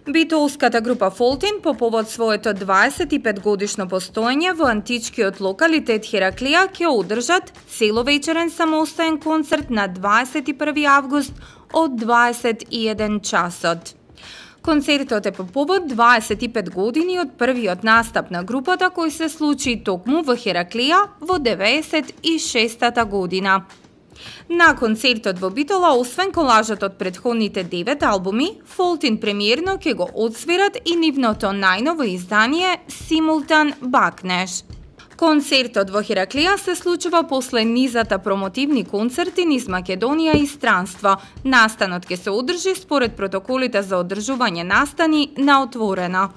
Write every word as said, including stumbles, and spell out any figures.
Битолската група Фолтин по повод своето дваесет и пет годишно постоење во античкиот локалитет Хераклија ќе одржат целовечерен самостоен концерт на дваесет и први август од дваесет и еден часот. Концертот е по повод дваесет и пет години од првиот настап на групата кој се случи токму во Хераклија во деветдесет и шестата година. На концертот во Битола, освен колажот од претходните девет албуми, Фолтин премиерно ќе го одсвират и нивното најново издание Симултан Бакнеш. Концертот во Хераклија се случува после низата промотивни концерти низ Македонија и странство. Настанот ќе се одржи според протоколите за одржување настани на отворено.